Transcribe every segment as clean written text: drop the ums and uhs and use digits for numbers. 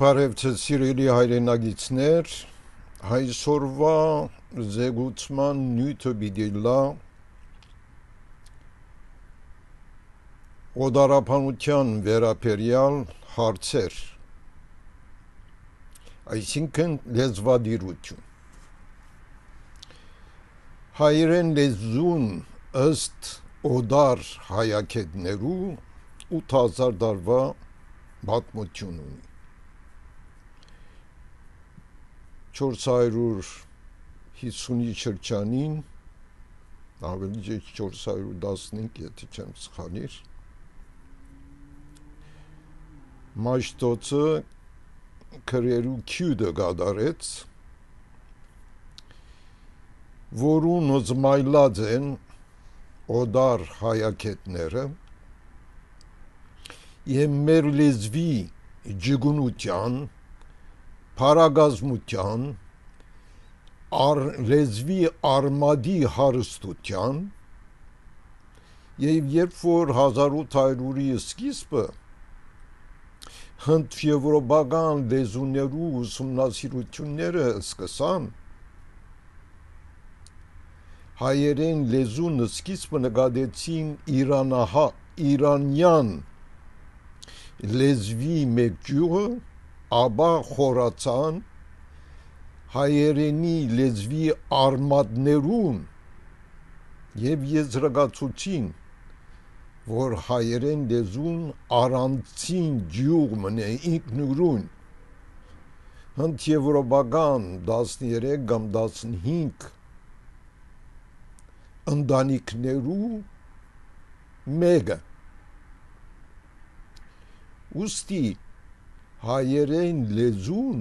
Բարև ձեզ սիրելի հայրենագիտներ, այսօրվա զեկուցման նյութը պիտի լա օդարապանության վերաբերյալ հարցեր, այսինքն լեզվադիրություն։ Հայերեն լեզուն ըստ օդար հայագետներու 8000 տարվա պատմություն ունի։ 450-ի շրջանին, ավելի 415, եթե չեմ սխալիր, Մաշտոցը քրերու քյուդը գադարեց, որուն զմայլած են օդար հայագետները և մեր լեզվի ջգունության, փարագազմության, լեզվի արմադի հարստության և երբ որ 1800-ի սկիզբը հնդեվրոպական լեզուներու ուսումնասիրությունները սկսան, հայերեն լեզուն սկիզբը նկատեցին իրանյան լեզվի մեկ ճյուղը, ապա խորացան հայերենի լեզվի արմատներուն և եզրակացուցին, որ հայերեն լեզուն առանցին ճյուղ մնե ինքնուրույն հնդեվրոպական 13 կամ 15 ընտանիքներու մեկը։ Ուստի հայերեն լեզուն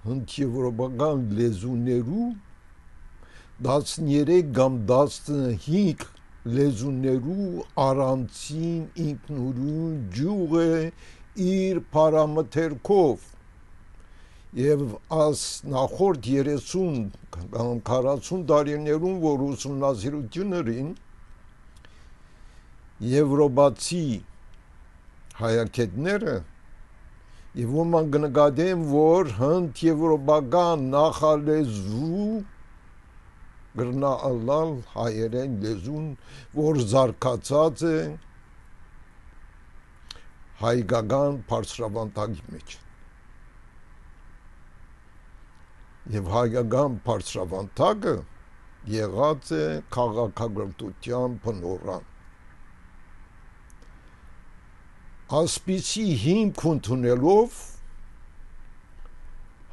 հնդեվրոպական լեզուներու 13 կամ 15 լեզուներու առանցին ինքնուրույն ճյուղ է իր փարամթերքով և նախորդ 30 կամ 40 տարիներուն, որ ուսումնասիրություններին եվրոպացի հայագետները և ոմանք կնկատեն, որ հնդեվրոպական նախալեզու գրնա ըլլալ հայերեն լեզուն, որ զարգացած է հայկական բարձրավանդակի մեջ։ Եվ հայկական բարձրավանդակը եղած է քաղաքակրթության բնօրրան։ Ասպիսի հիմք ընդունելով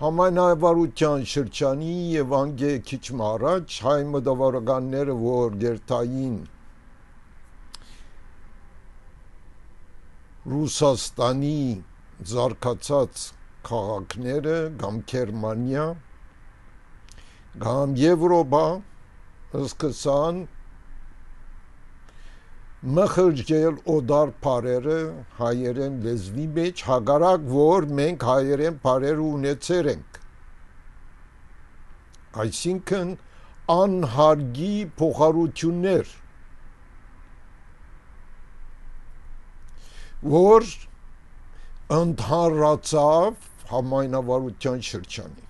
համայնավարության շրջանի և անգե քիչ առաջ հայ մտավորականները, որ գերտային Ռուսաստանի զարգացած քաղաքները կամ Գերմանիա կամ Եվրոպա սկսան մխրճել օդար բառերը հայերեն լեզվի մեջ, հակառակ որ մենք հայերեն բառեր ունեցել ենք, այսինքն անհարգի փոխառություններ, որ ընդհանրացավ համայնավարության շրջանին։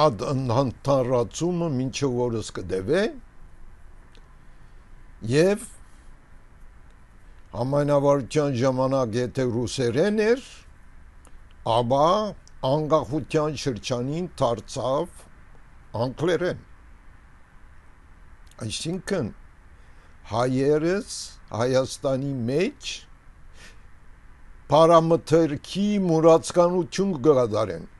Այդ ընդհանրացումը մինչև օրս կդեվե և համայնավարության ժամանակ եթե ռուսերեն էր, ապա անկախության շրջանին դարձավ անգլերեն։ Այսինքն հայերս Հայաստանի մեջ փարամթերքի մուրացկանություն կգադարեն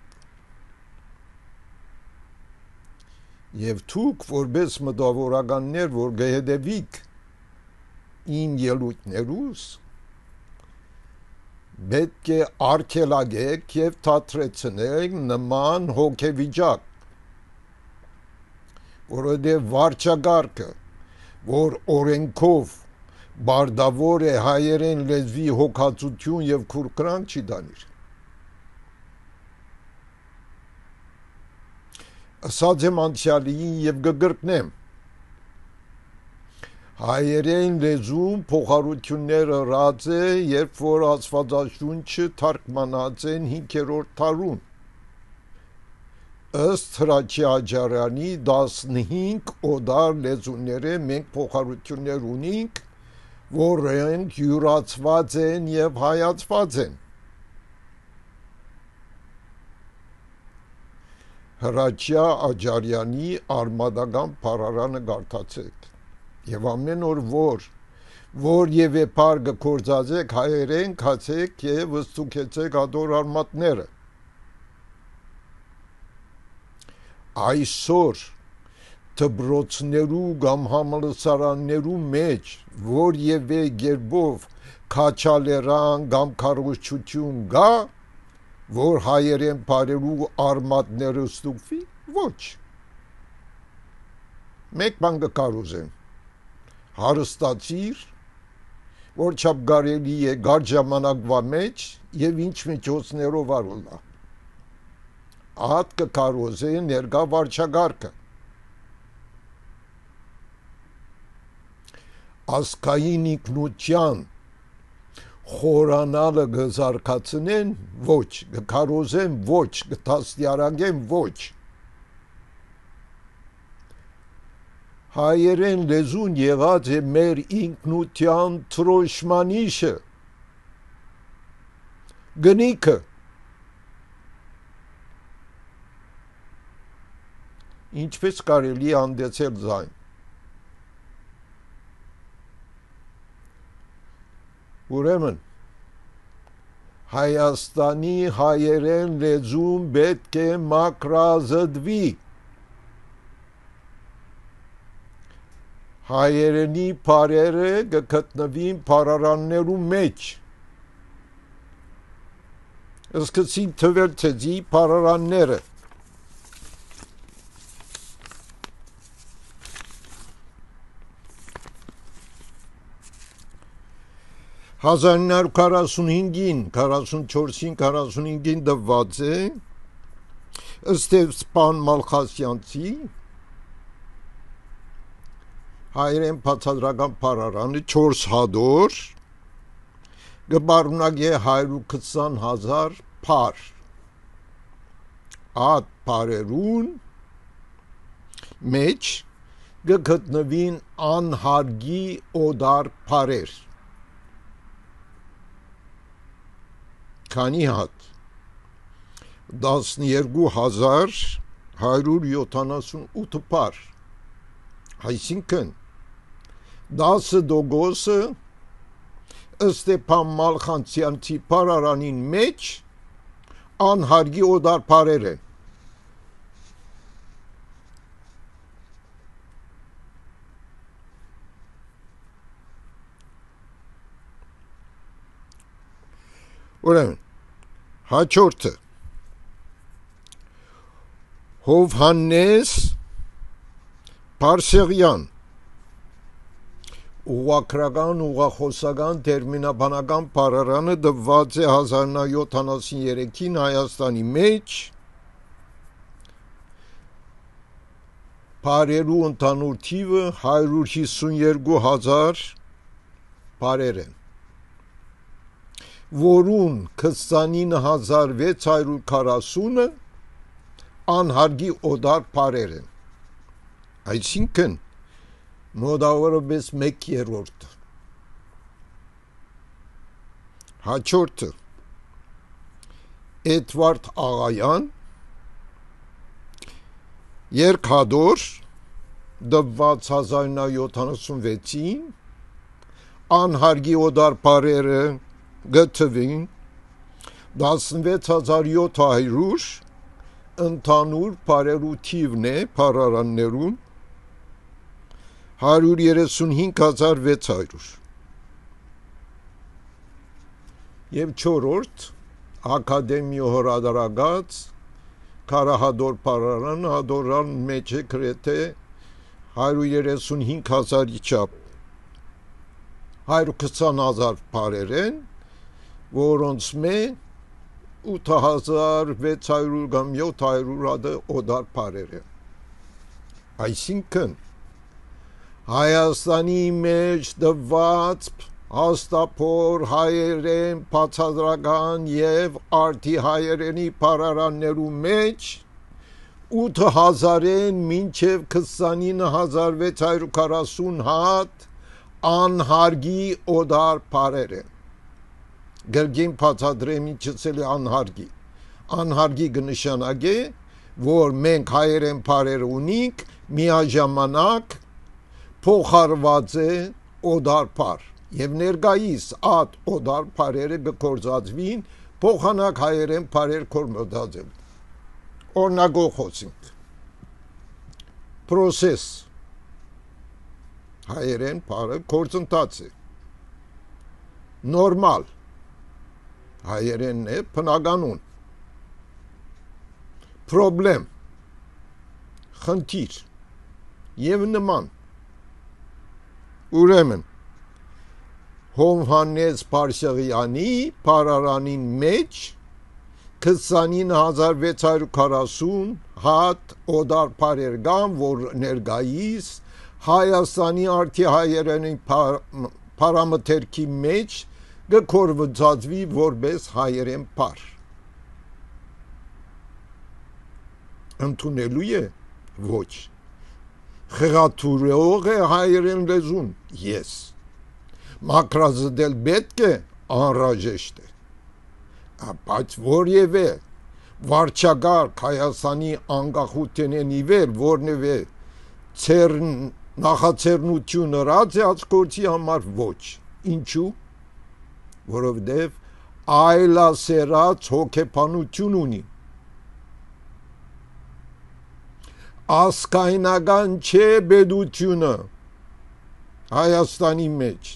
և դուք որպես մտավորականներ, որ կհետևիք իմ ելույթներուս, պետք է արգելակեք և թատրեցնեք նման հոգեվիճակ, որովհետև վարչակարգը, որ օրենքով բարդավոր է հայերեն լեզվի հոգացություն և քուրքրանք չի տանիր։ Ասած եմ անցյալին և կկրկնեմ, Հայերեն լեզուն փոխառությունները ռած է, երբ որ Աստվածաշունչը թարգմանած են 5-րդ դարում։ Ըստ Հրաչի Աջարյանի 15 օդար լեզուները մենք փոխառություններ ունենք, որոնք յուրացված են եւ հայացված են։ Հրաչյա Աջարյանի արմադական փառարանը գարտացեք եւ ամեն օր որ եւ եփար գործածեք հայերեն քացեք եւ վստուկեցեք ադոր արմատները։ Այսօր դբրոցներու կամ համալսարաններու մեջ որ եւ գերբով քաչալերան կամ քարոզչություն գա, որ հայերեն բարերու արմատները ստուգվի, ոչ։ Մեկ բան կկարոզեմ, հարստացիր, որ չափ կարելի է գար ժամանակվա մեջ եւ ինչ միջոցներով արոլա։ Ատ կկարոզե ներկա վարչագարկը։ Ասկային ինքնության խորանալը գզարկացնեն ոչ, կկարոզեն ոչ, կտաստիարակեն ոչ։ Հայերեն լեզուն եղած է մեր ինքնության թրոշմանիշը, գնիքը։ Ինչպես կարելի անդեցել ձայն։ Ուրեմն Հայաստանի հայերեն լեզուն պետք է մաքրազդվի։ Հայերենի բարերը կգտնվին փառարաններու մեջ։ Սկսին թվել ցեզի փառարանները։ 1945-ին, 44-ին, 45-ին դված է Ստեփան Մալխասյանցի հայերեն բացատրական փառարանը 4 հատոր գբարունակե 120,000 փար ատ փարերուն մեջ գտնվին անհարգի օդար փարեր քանի հատ 12,178 փար այսինքն 10% Ստեփան Մալխասյանցի փարարանին մեջ անհարգի օդար փարեր են։ Ուրեմն հաջորդը Հովհաննես Պարսեղյան ուղղակրական ուղղախոսական տերմինաբանական փառարանը դված է 1973-ին Հայաստանի մեջ փարերու ընդհանուր թիվը 152,000 փարեր են որուն 29,640-ը անհարգի օդար փարեր են այսինքն մոտավորապես 1/3 հաջորդը Էդվարդ Աղայան երկհադոր դված 1976-ին անհարգի օդար փարերը գտվին 16,700 ընդհանուր փարերու թիվն է փառարաններուն 135,600 եւ 4-րդ ակադեմիո հրադարագած Կարահադոր փառարան հադորան մեջ է գրեթե 135,000-ի չափ 120,000 փարեր են որոնց մեն 8,600 կամ 700 հատ օդար փարեր են այսինքն Հայաստանի մեջ դված հաստափոր հայերեն բացատրական եւ արդի հայերենի պարարաններու մեջ 8000-ին մինչև 29640 հատ անհարգի օդար պարեր են գրգին բացատրեմ ինչս էլ անհարգի կնշանակե որ մենք հայերեն պարեր ունենք միաժամանակ փոխարված է օդար պար եւ ներկայիս այդ օդար պարերը կգործածվին փոխանակ հայերեն պարեր կորմոդածել օրնագող խոսենք process հայերեն պարը գործընթաց է նորմալ հայերենն է բնականon problem խնդիր եւ նման ուրեմն Հովհաննես Փարսեղյանի պարարանին մեջ 29640 հատ օդար պարեր կան, որ ներկայիս Հայաստանի արդի հայերենի պարամետրի մեջ կգործածվի որպես հայերեն պար։ Ընդունելու է ոչ։ Խեղաթուրող է հայերեն լեզուն, ես։ Մակրազդել պետք է անհրաժեշտ է։ Բայց որևէ վարչագար Հայաստանի անկախութենեն իվեր որնևէ նախաձեռնություն ռադիաց գործի համար ոչ ինչու որովհետև այլասերած հոգեբանություն ունի ասկայնական չէ բեդությունը Հայաստանի մեջ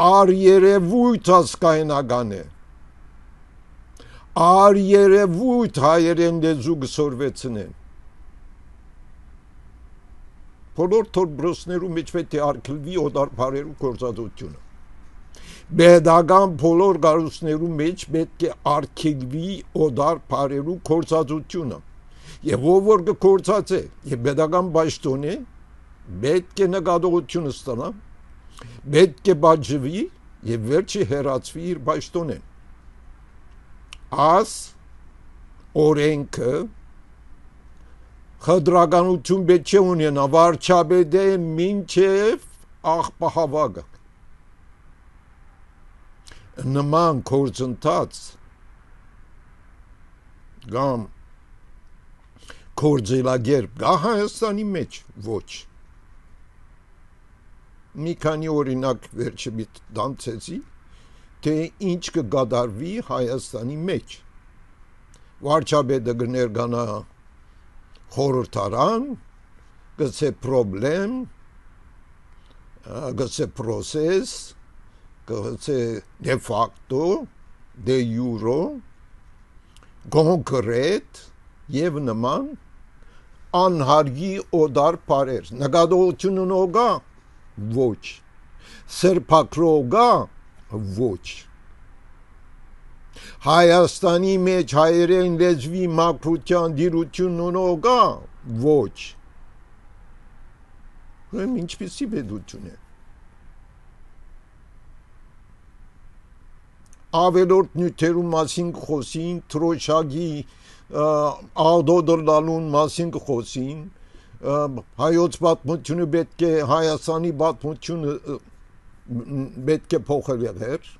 Արերևույթ ասկայնական է Արերևույթ հայերեն լեզու գսորվեցնեն բոլոր թորբրոսներու մեջ պետք է արգելվի օդար պարերու գործածությունը Պետական բոլոր գարուսներու մեջ պետք է արգելվի օդար պարերու գործածությունը եւ ով որ գործածե եւ պետական պաշտոն է պետք է նկատողությունը ստանա պետք է բաժվի եւ վերջի հերացվի իր պաշտոնեն As օրենքը խտրականություն պետք է ունենա վարչապետը մինչև աղբահավագը նման գործընթաց կամ գործելագերբ գա Հայաստանի մեջ ոչ մի քանի օրինակ վերջը դանցեցի թե ինչ կգադարվի Հայաստանի մեջ վարչապետը կներկանա խորհրդարան գցե պրոբլեմ գցե process գցե de facto de jure կոնկրետ եւ նման անհարգի օդար պարեր նկատողություն ունողա ոչ սրբակրողա ոչ Հայաստանի մեջ հայերեն լեզվի մաքրության դիրություն ունողա ոչ Ուրեմն ինչպիսի պետություն է ավելորդ նյութերու մասին խոսին թրոշակի աղդոդրլալուն մասին խոսին հայոց պատմությունը պետք է Հայաստանի պատմությունը պետք է փոխել եղեր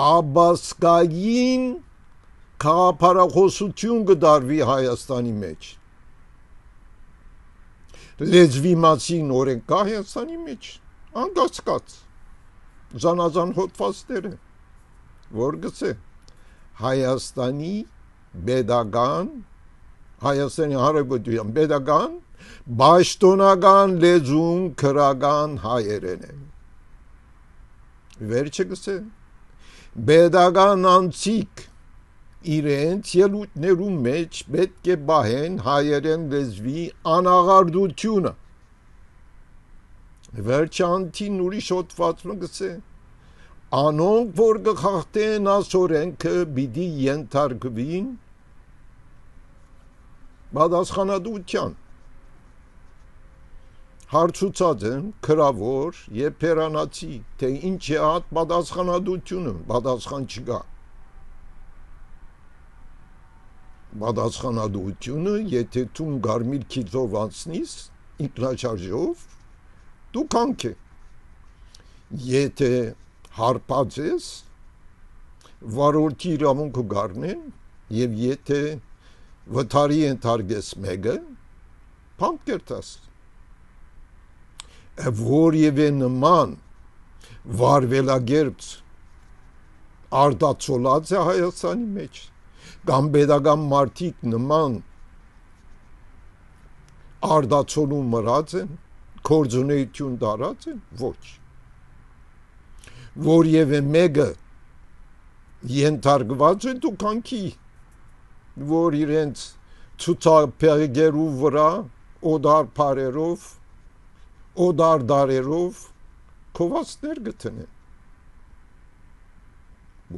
Աբասկային քաղաքապարախոսություն կդարվի Հայաստանի մեջ լեզվի մասին օրենք կա Հայաստանի մեջ անկասկած զանազան հոդվածներ են որ գցե Հայաստանի պետական Հայաստանի Հանրապետության պետական պաշտոնական լեզուն քրական հայերեն է վերջը գցե պետական անցիկ իրենց ելույթներու մեջ պետք է բահեն հայերեն լեզվի անաղարդությունը վերջանտին ուրիշ հոդվածը գցե անոնք որ կխախտեն ասորենքը պիտի ենթարկվին պատասխանատվության հարցուցած են քրավոր եւ փերանացի, թե ինչ է այդ պատասխանատվությունը, պատասխան չկա։ Պատասխանատվությունը, եթե դու գարմիր քիլով անցնես ինքնաշարժով, դու կանք է։ Եթե հարբած ես, վարորդի իրավունքը գարնեն, եւ եթե վթարի ենթարկես մեկը, փանկ կերտաս։ Որևէ նման վարվելագերծ արդացոլած է Հայաստանի մեջ, կամ pedagogan մարդիկ նման արդացոլում մրած են, կորձունեություն դարած են, ոչ։ Որևէ մեկը ենթարկված է դու կանքի, որ իրենց ցուցափեղգերու վրա օդար բարերով, օդար դարերով կովացներ գտնեն։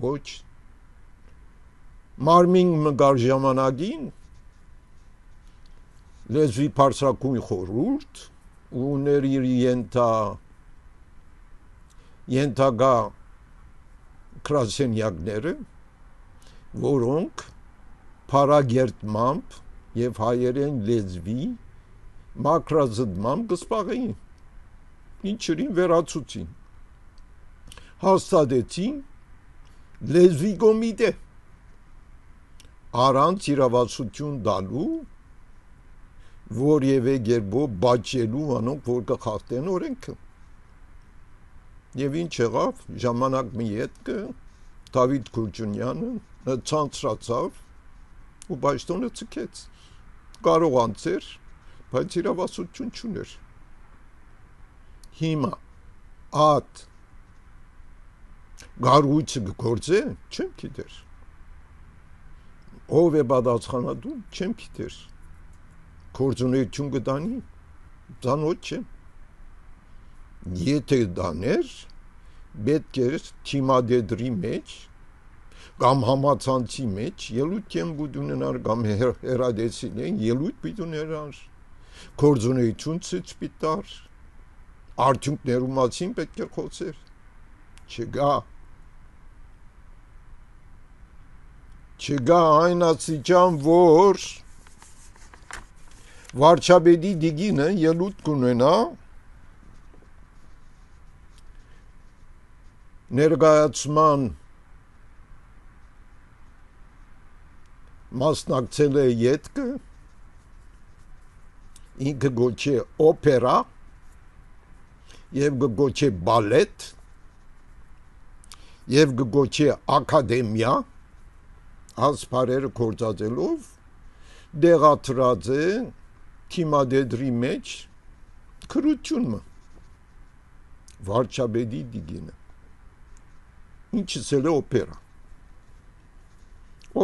Ոչ։ Մարմին մգար ժամանակին լեզվի բարձրակույն խորհուրդ ուներ իր ենթագա գրասենյակները, որոնք փարագերտմամբ եւ հայերեն լեզվի մակրազդմամբ կսպաղեին, ինչերին վերացուցին, հաստատեցին լեզվի կոմիտե, առանց իրավասություն տալու, որևէ գերբով բաճելու անոնք, որ կխախտեն օրենքը։ Եվ ինչ եղավ, ժամանակ մի ետքը Դավիթ Քուրջունյանը ցանցրացավ ու պաշտոնը ցկեց, կարող անցեր, բայց իրավասություն չուներ։ Հիմա այդ գարույցը գործե, չեմ գիտեր, ով է պատասխանատու, չեմ գիտեր, կորձունեություն կտանի, ծանոթ չեմ, եթե դաներ, պետք է թիմադեդրի մեջ, կամ համացանցի մեջ, ելույթ եմ բուդ ունենար, կամ հերադեսին են, ելույթ պիտ ունենար, կորձունեություն ցույց պիտար, արդյունքներու մասին պետք է խոսեր, չգա այն աստիճան, որ վարչապետի դիգինը ելույթ կունենա ներկայացման մասնակցել է ետքը, ինքը գոչե օպերա եւ գոչե բալետ եւ գոչե ակադեմիա, ասպարերը կործածելով դեղատրած է թիմադեդրի մեջ քրությունը վարչապետի դիգինը, ինչս էլ է օպերա։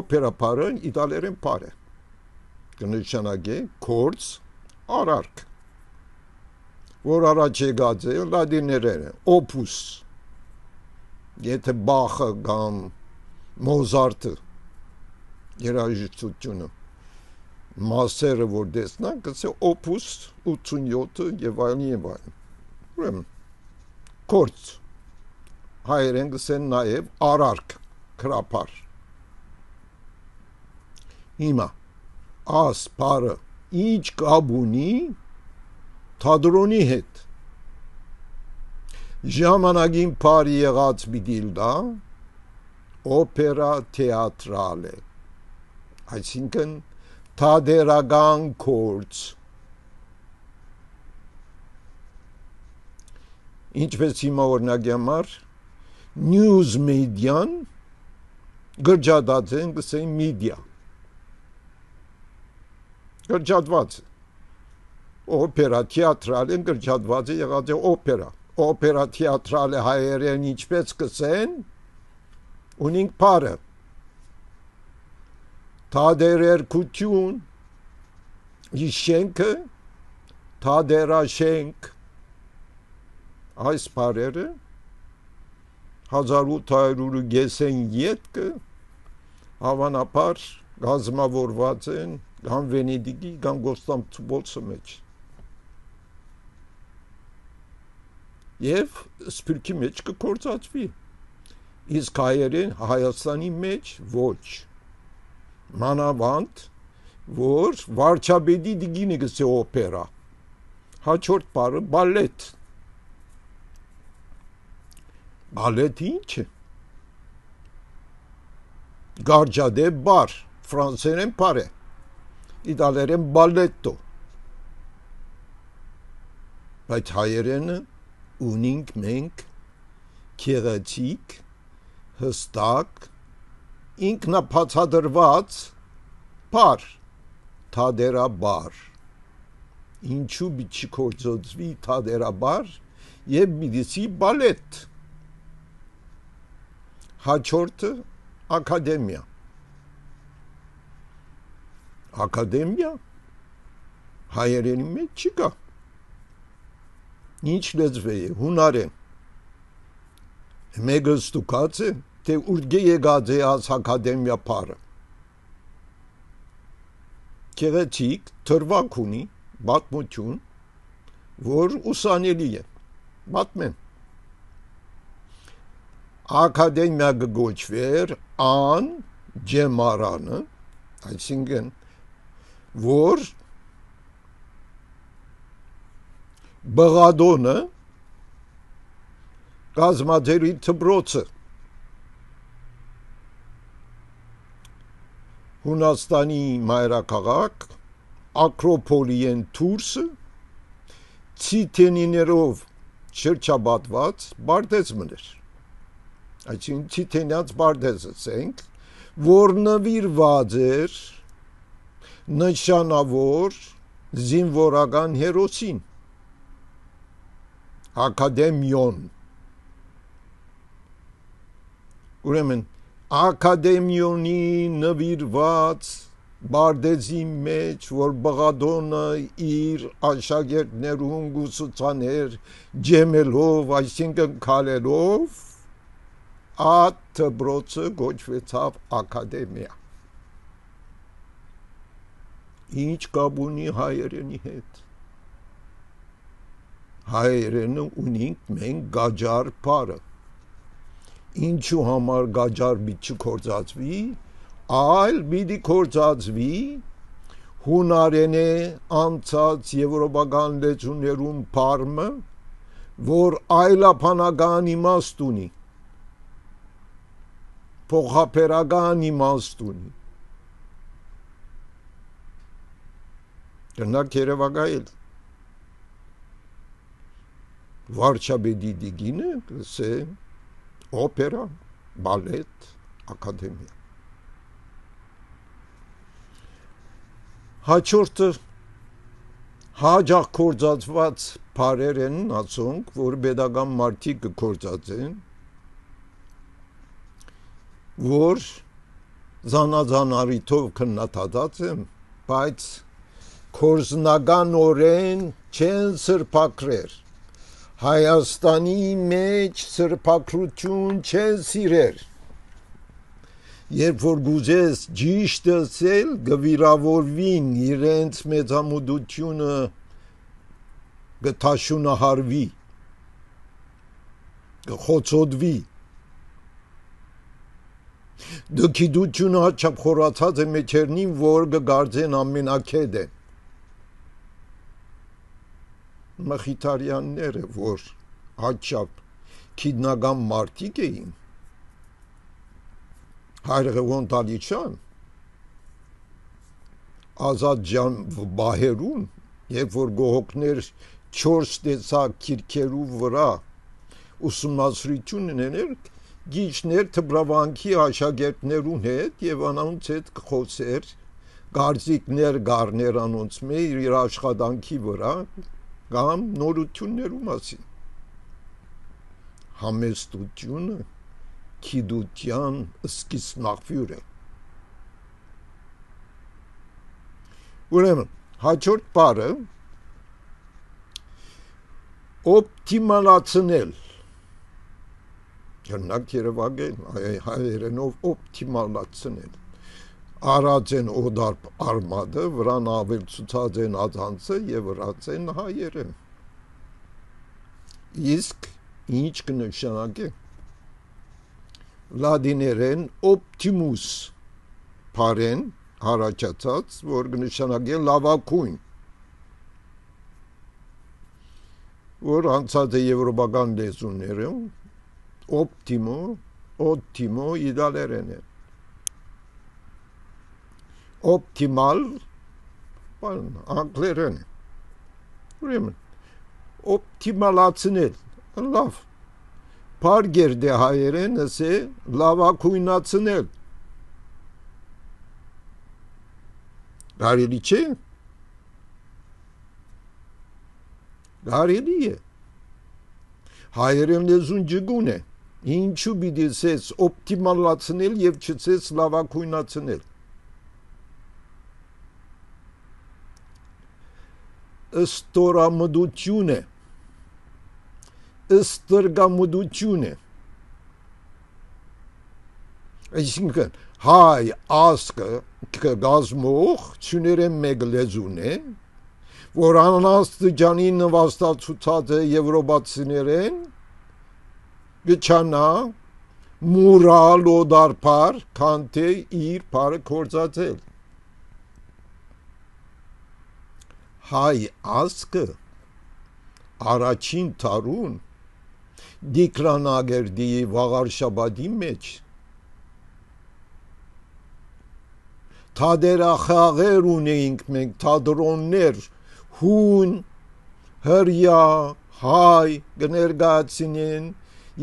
Օպերա պարը իտալերեն պար է, կնշանակե կորձ արարք, որ առաջ եկած է լատիներեն է, օպուս, եթե Բախը կամ Մոզարտը երաժշտությունը մասերը որ դեսնան, կսե օպուս 87 եւ այլն եւ այլն։ Ուրեմն կորձ հայերեն կսեն նաեւ արարք, քրապար։ Հիմա աս պարը ինչ կապ ունի թատրոնի հետ։ Ժամանակին պարի եղած բիդիլդա օպերա թեատրալ է, այսինքն թատերական կորձ, ինչպես հիմա օրինակի համար news մեդիան գրջադած են գսեն մեդիա, գրջադված է, օպերա թեատրալ են գրջադված է եղած է օպերա, օպերա թեատրալ է հայերեն ինչպես կսեն, ունինք պարը, թադերերկություն, իշենքը, թադերաշենք, այս պարերը 1800 գեսեն ետքը հավանապար գազմավորված են կամ Վենեդիգի կամ Կոստանդնուպոլի մեջ եւ սփյուռքի մեջ կկործածվի իսկ Հայաստանի մեջ ոչ մանավանդ որ վարչապետի դիգինը գսե օպերա հաջորդ բառը բալետ ինչ է գարջադե բար ֆրանսերեն բարե իտալերեն բալետո բայց հայերենը ունենք մենք քեղեցիկ հստակ ինքնաբացատրված բար թադերաբար ինչու պիտի կործածվի թադերաբար եւ պիտի բալետ հաջորդը ակադեմիա հայերենի մեջ չկա ինչ լեզվի է հունարեն մեկը ստուգած է թե ուր եկած է աս ակադեմիա բառը գեղեցիկ թրվակ ունի պատմություն որ ուսանելի է պատմեն ակադեմիա գոչվեր ան ջեմարանը այսինքն որ բղադոնը կազմաձերի դպրոցը Հունաստանի մայրաքաղաք ակրոպոլիեն Թուրսը ցիտենիներով շրջապատված բարձմն էր այսինքն ցիտենյաց բարձը ցենք որ նվիրված էր նշանավոր զինվորական հերոսին ակադեմիոն ուրեմն ակադեմիոնի նվիրված Բարդեզի մեջ որ բղադոնը իր աշակերտներուն գուսուցաներ ջեմելով այսինքն քալելով ատ դպրոցը գոչվեցավ ակադեմիա ինչ կապ ունի հայերենի հետ հայերենը ունենք մենք գաջար բառը ինչու համար գաջար պիտի կործածվի այլ պիտի կործածվի հունարենե անցած եվրոպական լեզուներուն բառը որ այլաբանական իմաստ ունի փոխաբերական իմաստ ունի կնակ երևակայել վարչապետի դիգինը կսե օպերա բալետ ակադեմիա հաջորդը հաջող կործածված բառեր են ասոնք որ pedagogan մարդիկ կործածեն որ զանազանարիթով քննադատած են բայց կորզնականորեն չեն սրբակրեր Հայաստանի մեջ սրբակրություն չեն սիրեր երբ որ գուզես ճիշտ ասել գվիրավորվին իրենց մեծամուտությունը գտաշունահարվի գխոցոդվի դքիդությունը հաճապ խորացած է մեջերնին որ գգարձեն ամենակեդ են մխիթարյանները որ հաճապ քիդնական մարդիկ էին Հայրղևոն Տալիչյան ազատ ջան բահերուն երբ որ գողոքներ 4 տեսակ քիրքերու վրա ուսումնասիրություն ուներ գիչներ թբրավանքի աշակերտներուն հետ եւ անոնց հետ խոսեր գարձիկներ գառներ անոնց մեր իր աշխատանքի վրա կամ նորություններու մասին համեստությունը քիդության սկիզբնախվյուր է ուրեմն հաջորդ բառը օպտիմալացնել Կրնակ երևակել հայերենով օպտիմալացնել արած են օդար արմադը, վրան ավելցուցած են ածանցը եւ վրած են հայերը։ Իսկ ինչ կնշանակի լադիներեն optimus parեն հարաճացած, որ կնշանակի լավակույն, որ անցած է եվրոպական լեզուներում օպտիմո իտալերեն է, օպտիմալ անգլերեն է, ուրեմն օպտիմալացնել, լավ, պարգեր դե հայերեն ասե լավակույնացնել, կարելի չէ, կարելի է, հայերեն լեզուն ջգուն է, ինչու պիտի ասես օպտիմալացնել եւ չասես լավակույնացնել, ըստորամդություն է, ըստրգամդություն է, այսինքն հայ ասկը գազմող չուներեն մեկ լեզուն է, որ անաստիճանի նվաստացուցած է եվրոպացիներեն, գչանա մուրալ օդարպար, քանթե իր պարը կործացել։ Հայ ասկը առաջին թարուն դիկրանագերդի վաղարշաբադի մեջ թադերախաղեր ունեինք մենք, թադրոններ, հուն, հրյա, հայ, գներգացինեն,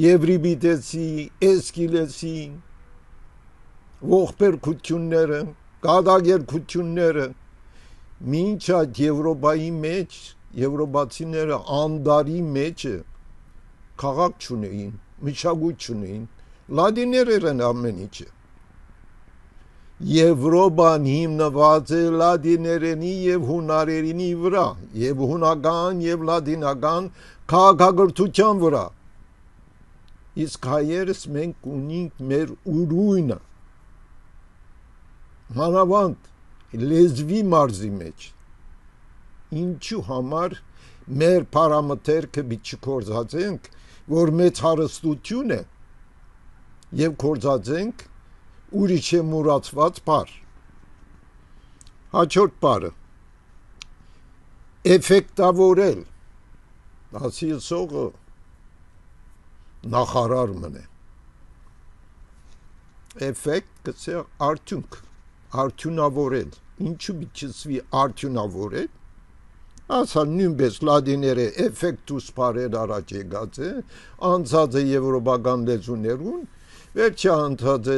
եվրիբիտեսի, էսկիլեսի, ողբերգությունները, կադագերգությունները, մինչ այդ Եվրոպայի մեջ, եվրոպացիները անդարի մեջը քաղաք չունեին, մշակույթ չունեին, լադիներեր են ամեն ինչը։ Եվրոպան հիմնված է լադիներենի եւ հունարերենի վրա, եւ հունական եւ լադինական քաղաքագրթության վրա։ Իսկ հայերս մենք ունենք մեր ուրույնը, մանավանդ լեզվի մարզի մեջ, ինչու համար մեր պարամետրը պիտի չկործածենք, որ մեծ հարստություն է եւ կործածենք ուրիշ է մուրացված պար։ Հաջորդ պարը էֆեկտավորել, ասի սողը նախարար մնե, էֆեկտ կսե արդյունք, արդյունավորել, ինչու պիտի արդյունավորել, ասա նույնպես լադիները էֆեկտուս պարեր առաջ եկած է, անցած է եվրոպական լեզուներուն, վերջը անցած է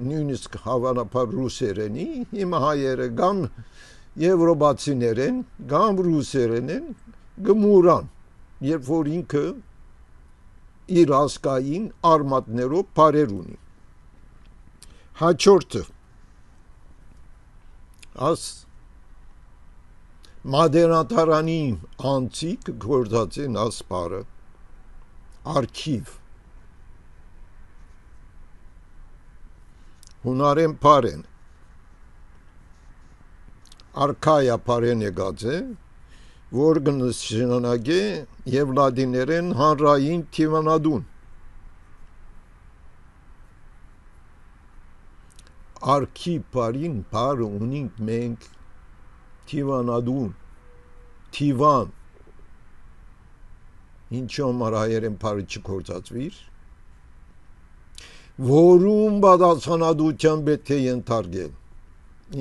նույնիսկ հավանաբար ռուսերենի, հիմա հայերը կամ եվրոպացիներեն, կամ ռուսերեն են, գմուրան, երբ որ ինքը իր ասկային արմատներով պարեր ունի։ Հաջորդը, աս մադենատարանի անցիկ գործած են ասպարը, արքիվ, հունարեն պարեն, արքայա պարեն եկած է, որ կնշանակե եւ լադիներեն հանրային թիվանադուն, արքի պարին պարը ունինք մենք թիվանադուն, թիվան, ինչու համար հայերեն պարը չկործածվիր, որում բադացանադության պետք է ենթարկել,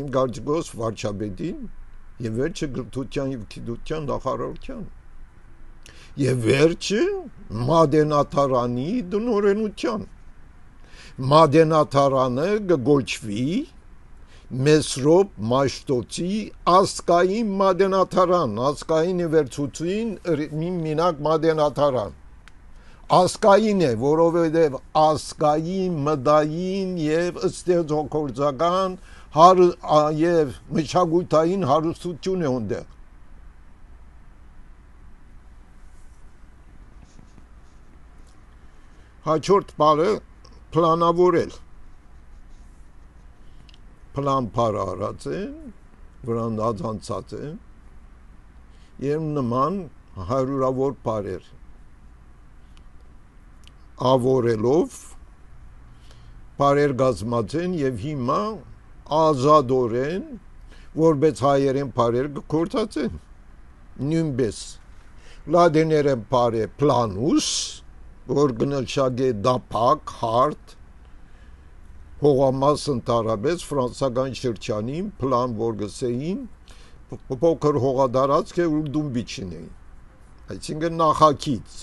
իմ գարցգոս վարչապետին եւ վերջը գրթության եւ գիտության նախարարության եւ վերջը մադենատարանի դնորենության մադենատարանը գոչվի Մեսրոպ Մաշտոցի ասկային մադենատարան, ասկային վերցուցին մինակ մադենատարան, ասկային է, որովհետև ասկային, մդային եւ ստեղծագործական եւ մշակութային հարստություն է ունդեղ։ Հաջորդ բառը պլանավորել, պլան պար արած են, վրան ածանցած են, և նման հարյուրավոր պարեր ավորելով պարեր գազմած են և հիմա ազադորեն որպես հայերեն պարեր գործածեն նույնպես լադեներեն պարե պլանուս որ գնշագե դապակ հարդ հողամաս ընդարաբես ֆրանսական շրջանին պլան որ գսեին փոքր հողադարածք է ուրդում բիչին այսինքն նախագիծ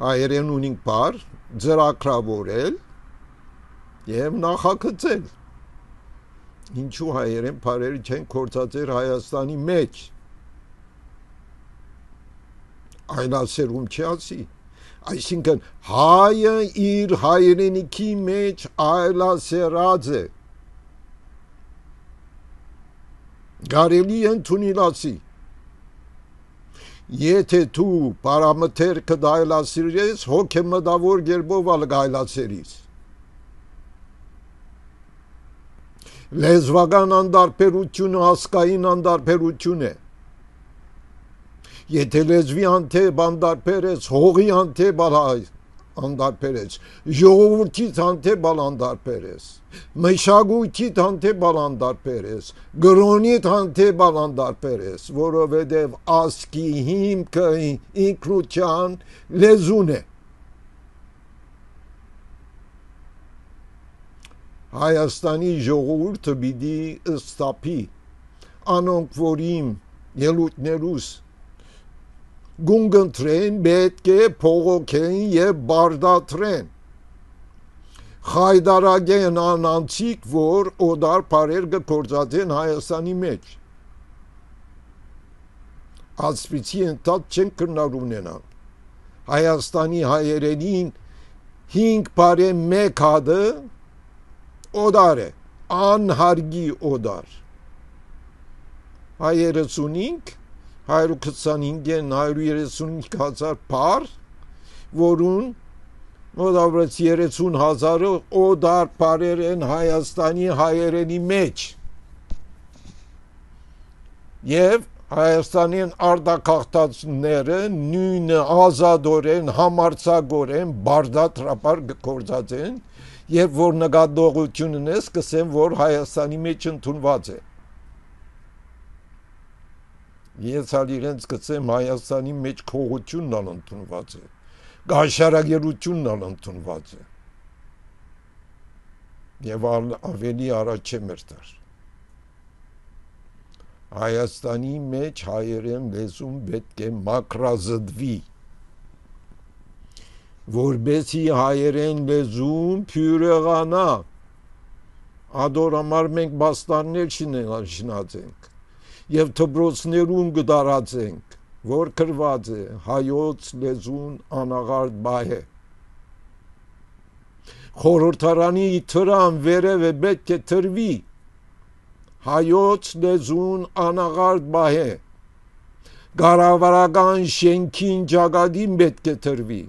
հայերեն ունենք պար ծրագրավորել և նախագծել ինչու հայերեն պարերը չեն գործածել Հայաստանի մեջ այլասերում չի ասի այսինքն հայը իր հայրենիքի մեջ այլասերած է կարելի է ընդունել ասի եթե դու պարամթերքը այլասերես հոգեմտավոր կերպով այլասերես լեզվական անդարբերությունը հասկային անդարբերություն է եթե լեզվի անթեփ անդարբերես հողի անթեփ անդարբերես ժողովրդի անթեփ անդարբերես մշակույթի անթեփ անդարբերես գրոնի անթեփ անդարբերես որովհետև ասկի հիմքը ինքնության լեզուն է Հայաստանի ժողովուրդը պիտի ստապի անոնք որ իմ ելույթներուս գունգընտրեն պետք է փողոքեն և բարդատրեն խայդարագեն անանցիկ որ օդար պարեր գործածեն Հայաստանի մեջ ասպիցի ընթաց չեն կրնար ունենալ Հայաստանի հայերենին 5 պարե մեկ հատը օդար է անհարգի օդար հայերս ունինք 125 135 հազար պար որուն մոտավորապես 30 հազարը օդար պարեր են Հայաստանի հայերենի մեջ և Հայաստանին արտագաղթածները նույնը ազադորեն համարձակորեն բարդատրապար գործածեն Երբ որ նկատողություն ունես, կսեմ, որ Հայաստանի մեջ ընդունված է։ Ես ալ իրենց կսեմ Հայաստանի մեջ քողությունն ալ ընդունված է, գաշարագերությունն ալ ընդունված է։ Եվ ավելի առաջ է մերտար։ Հայաստանի մեջ հայերեն լեզուն պետք է մակրազդվի, որբեսի հայերեն լեզուն փյուրեղանա, ադորամար մենք բաստաններ շնացենք, և թբրոցներուն գդարացենք, որ կրված է հայոց լեզուն անաղարդ բայ է։ Խորհրդարանի թրան վերև է պետք է թրվի, հայոց լեզուն անաղարդ բայ է, գարավարական շենքին ճագադին պետք է թրվի,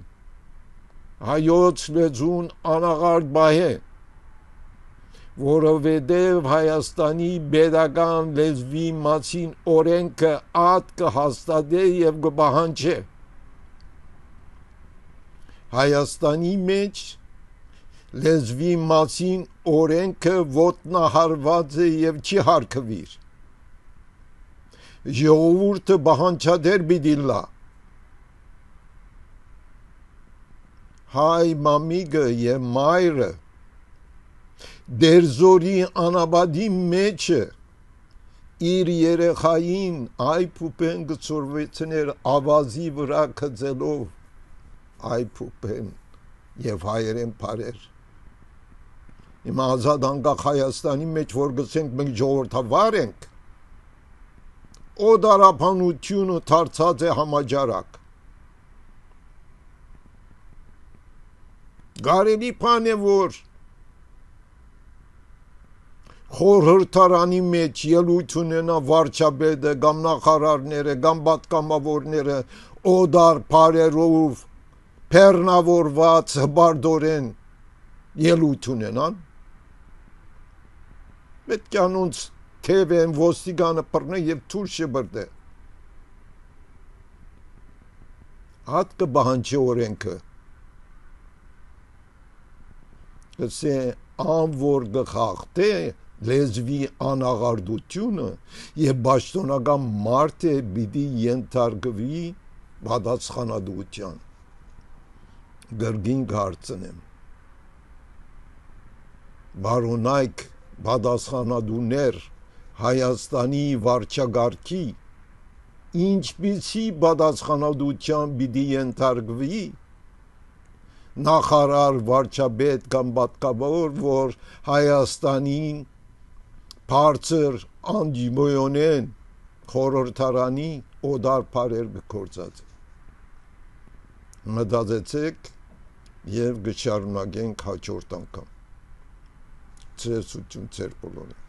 հայոց լեզուն անաղարդ բայ է, որովհետև Հայաստանի պետական լեզվի մասին օրենքը ատ կհաստատե և կպահանջե։ Հայաստանի մեջ լեզվի մասին օրենքը ոտնահարված է և չի հարգվիր։ Ժողովուրդը պահանջադեր պիտի լա։ Հայ մամիկը և մայրը դերձորի անաբադի մեջը իր երեխային այփուպեն գծորվեցներ ավազի վրա կծելով այփուպեն և հայերեն պարեր։ Իմ ազատ անկախ Հայաստանի մեջ որ գսենք մենք ժողովրդավար ենք, օդարապանությունը դարձած է համաճարակ։ Կարելի բան է որ խորհրդարանի մեջ ելույթ ունենա վարչապետը կամ նախարարները կամ պատգամավորները օդար պարերով բեռնավորված հբարդորեն ելույթ ունենան, պետք է անոնց թևեն ոստիգանը բռնե եւ թույլ շբրդե։ Հատ կբահանջի օրենքը, կսե անոր գխախտե լեզվի անաղարդությունը եւ պաշտոնական մարդը պիտի ենթարկվի պատասխանատվության։ Գրգին հարցնեմ, բարոնայք պատասխանատուներ Հայաստանի վարչագահի ինչպիսի պատասխանատվության պիտի ենթարկվի նախարար, վարչապետ կամ պատգամավոր, որ Հայաստանին բարձր անջիմոյոնեն խորհրդարանի օդար բարեր գործած։ Մտածեցեք եւ կշարունակենք հաջորդ անգամ։ Ցերսություն ձեր բոլորին։